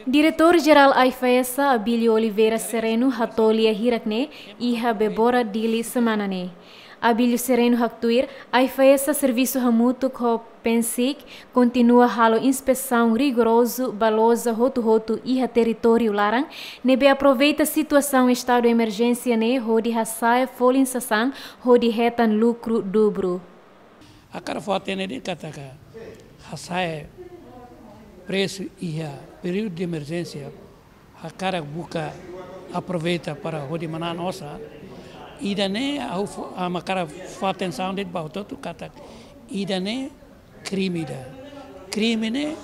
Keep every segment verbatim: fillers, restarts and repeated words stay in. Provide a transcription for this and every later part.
Diretór Jerál AIFAESA, Abílio Oliveira Sereno, hato'o lia hirak ne'e iha Bebora Dili semana ne'e. Abílio Sereno haktuir, AIFAESA servisu hamutuk ho PENSIC kontinua halo inspesaun rigorozu ba loja hotu-hotu iha territóriu laran, ne'ebé aproveita situasaun estadu emerjénsia ne'e hodi hasa'e folin sasán hodi hetan lukru dubru. Hakarak fó-hatene de'it katak hasa'e presu iha períodu de emerjénsia, hakarak buka aproveita para hodi manán osan. Ida-ne'e ha'u fó-, ha'u hakarak fó atensaun de'it ba hotu-hotu katak ida-ne'e krime ida. Krime ne'e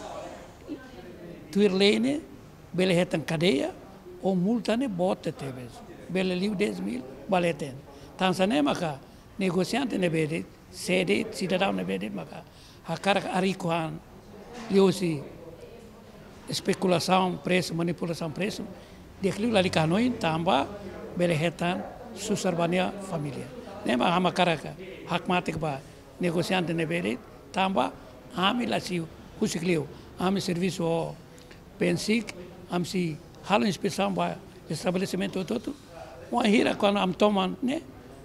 tuir lei ne'e bele hetan kadeia ou multa ne'e boot tebes. Bele liu dez mil ba leten. Tansá ne'e maka negosiante ne'ebé de'it, sé de'it, sidadaun ne'ebé de'it maka hakarak ariku an liuhusi espekulasaun presu, manipulasaun presu, di'ak liu lalika hanoin tanba bele hetan susar ba nia família. Ne'e mak ha'u hakarak hakmatek ba negosiante ne'ebé de'it tanba ami la sei husik liu, ami servisu ho PENSIC, ami sei halo inspesaun ba estabelesimentu hotu-hotu. Wainhira kuandu ami toman ne'e,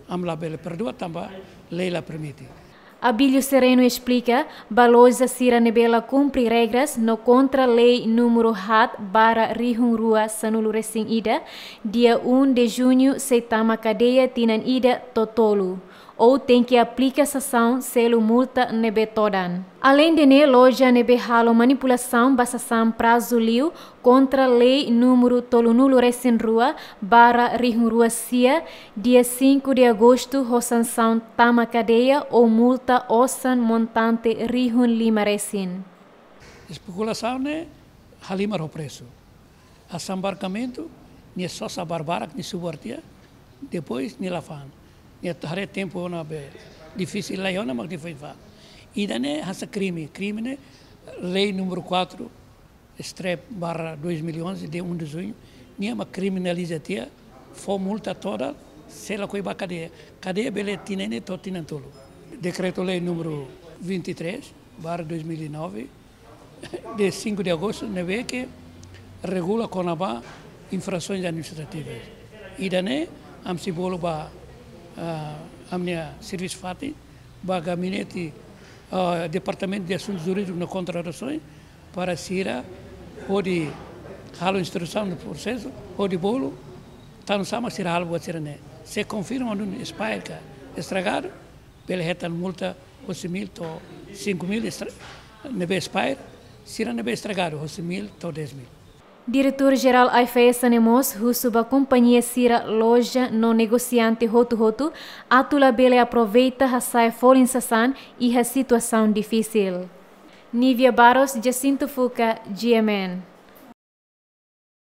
ami labele perdua tanba lei la permite. Abílio Sereno esplika, ba loja sira ne'ebé la kumpre regras no kontra lei númeru haat barra rihun rua sanulu resin ida, dia um de junho sei tama kadeia tinan ida to'o tolu, ou tenke aplika sansaun selu multa ne'ebé todan. Aleinde ne'e, loja ne'ebé halo manipulasaun ba sasán prazu liu kontra lei númeru tolunulu resin rua barra rihun rua sia, dia cinco de agosto ho sansaun tama kadeia ou multa osan montante rihun lima resin. Espekulasaun ne'e halimar ho presu. Asambarkamentu, nia sosa barbarak, nia subar tiha, depois nia la fa'an. Nia haree tempu ona be difisil lai ona mak nia foin fa'an. Ida-ne'e hanesan krime, krime ne'e lei númeru quatro, strep barra dois mil e onze, de um de junho, nia mak kriminaliza tiha, fó multa todan, sei lakohi ba kadeia. Kadeia bele tinan ida to'o tinan tolu. Dekretu-lei númeru vinte e três barra dois mil e nove, de cinco de agosto, ne'ebé ke regula kona-ba infrasoens administrativas. Ida-ne'e, ami sei bolu ba, ah, ami-nia servisu fatin, ba gabinete, ah, Departamentu de Asuntus Jurídikus no Kontratasoens, para sira hodi halo instrusaun no prosesu, hodi bolu, tanbasá mak sira halo buat sira-ne'e. Se konfirma duni expire ka estragadu, bele hetan multa hosi mil to'o cinco mil estra-, ne'ebé expire, sira ne'ebé estragadu, hosi mil to'o dez mil. Diretór Jerál AIFAESA ne'e mós husu ba kompañia sira, loja no negosiante hotu-hotu atu labele aproveita hasa'e folin sasán iha situasaun difisil. Nívia Barros, Jacinto Fuca, G M N.